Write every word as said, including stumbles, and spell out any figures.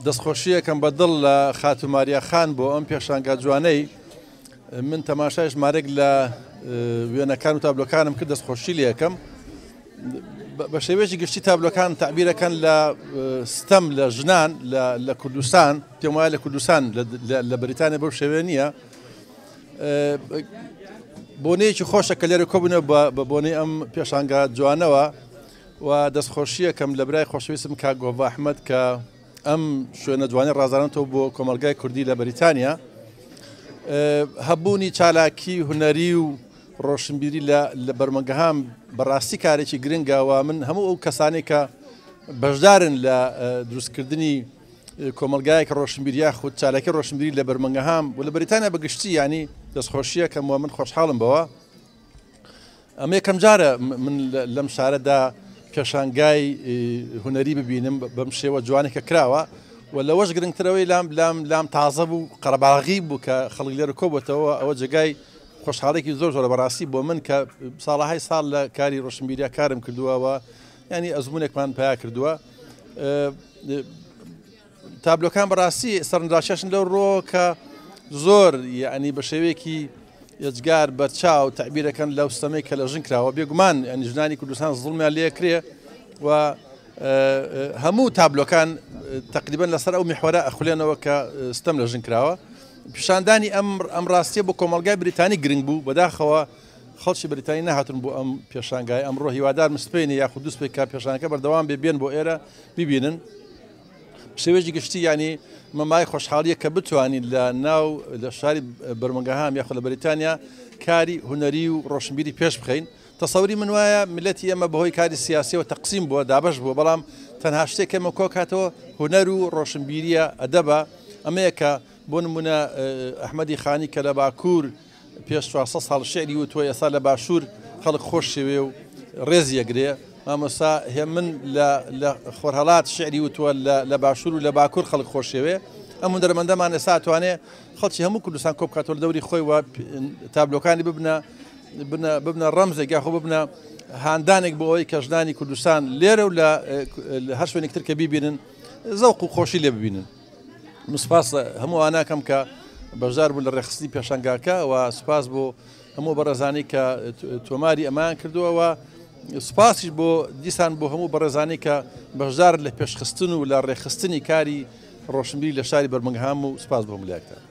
دەستخۆشیەکەم بە دڵ لە خاتوو ماریا خان بۆ ئەم پێشانگا جوانەی. من تەماشای ژمارێک لە وێنەکان و تابلۆکانم کرد، دەستخۆشی لێکەم. بە شێوەیەکی گشتی تابلۆکان تەعبیرەکەن لە ستەم لە ژنان لە کوردستان، پێم وایە لە کوردستان لە بەریتانیا بەو شێوەیە نییە. بۆنەیەکی خۆشە کە لێرە کۆبوونەوە بە بۆنەی ئەم پێشانگا جوانەوە و دەستخۆشیەکەم لە برای خۆشەویستم کاک گۆڤا ئەحمەد کە ئەم شوێنە جوانی ڕازانەتەوە بۆ کۆمەلگای کوردی لە بەریتانیا. هەبوونی چالاکی هونەری و ڕۆشنبیری لە بەرمەنگەهام بەڕاستی کارێکی گرنگە و من هەموو ئەو کەسانێک کە بەشدارن لە دروستکردنی کۆمەلگایەک ڕۆشنبیری یاخود چالاکی ڕۆشنبیری لە بەرمەنگەهام و لە بەریتانیا بەگشتی، ینی دەستخۆشیەکەم و من خۆشحاڵم بەوە. ئەمە یەکەم جارە من لەم شارەدا پێشانگای هونەری ببینم بەم شێوە جوانێکە کراوە و لەوەش گرنگترەوەی لام لام لام تازە بوو، قەرەباغی بوو کە خەڵک لێرە کۆبێتەوە. ئەوە جێگای خۆشحاڵێکی زۆر زۆرە بەڕاستی بۆ من کە ساڵەهای ساڵ لە کاری ڕۆشنبیریا کارم کردووە و ینی ئەزمونێکمان پیا کردووە. تابلۆکان بەڕاستی سەرنجڕاکێشن لەو ڕۆ کە زۆر یعنی بە شێوەیەکی یەجگار بەرچاو تەعبیرەکەن لەو ستەمەی کە لە ژن کراوە. بێگومان ینی ژنانی کوردستان زوڵمیان لێکرێ و هەموو تابلۆکان تقریبا لەسەر ئەو میحوەرە ئەخولێنەوە کە ستەم لە ژن کراوە. پیشاندانی ئەم ئەم ڕاستیە بۆ کۆمەلگای بریتانی گرنگ بوو. بەداخەوە خەڵکی بریتانی نەهاتون بۆ ئەم پێشانگای ئەمڕۆ. هیوادارم سپێنێ یاخود دوو سپێ کە پێشانەکە بەردەوام بێ بێن بۆ ئێرە ببینن. شێوەیەکی گشتی ینی مەمای خۆشحاڵیە کە بتوانین لە ناو لە شاری بەرمەنگەهام یاخود لە بەریتانیا کاری هونەری و ڕۆشنبیری پێش بخەین. تەسەوری من وایە میللەتی ئێمە بەهۆی کاری سیاسیەوە تەقسیم بووە، دابەش بووە، بەڵام تەنها شتێک ئێمە کۆکاتەوە هونەر و ڕۆشنبیریە، ئەدەبە. ئەمەیە کە بۆ نمونە ئەحمەدی خانی کە لە باکوور پێش چوارسەد ساڵ شعری وتووە، ئێستا لە باشوور خەڵک خۆش شێوێ و ڕێزی ئەگرێ. مامۆستا هێمن لە خۆرهەڵات شعری وتووە، لە باشوور و لە باکوور خەڵک خۆشێوێ. ئەم هونەرمەندەمان ئێستا توانێ خەڵکی هەموو کوردستان کۆ بکاتەوە لە دەوری خۆی و تابلۆکانی ببنە ببنە ڕەمزێک یاخۆ ببنە هاندانێک بۆ ئەوەی کە ژنانی کوردستان لێرە و لە هەر شوێنێک تر کە بیبینن زەوق و خۆشی لێ ببینن. من سوپاس هەموو ئاناکەم کە بەشدار بوون لە ڕێکخستنی پێشانگاکە و سوپاس بۆ هەموو بەڕێزانی کە تۆماری ئەمان کردووە و سوپاسیش بۆ دیسان بۆ هەموو بەڕێزانی کە بەشدار لە پێشخستن و لە ڕێکخستنی کاری ڕۆشنبیری لە شاری بەرمنگهام و سوپاس بۆ هەموو لایەکتان.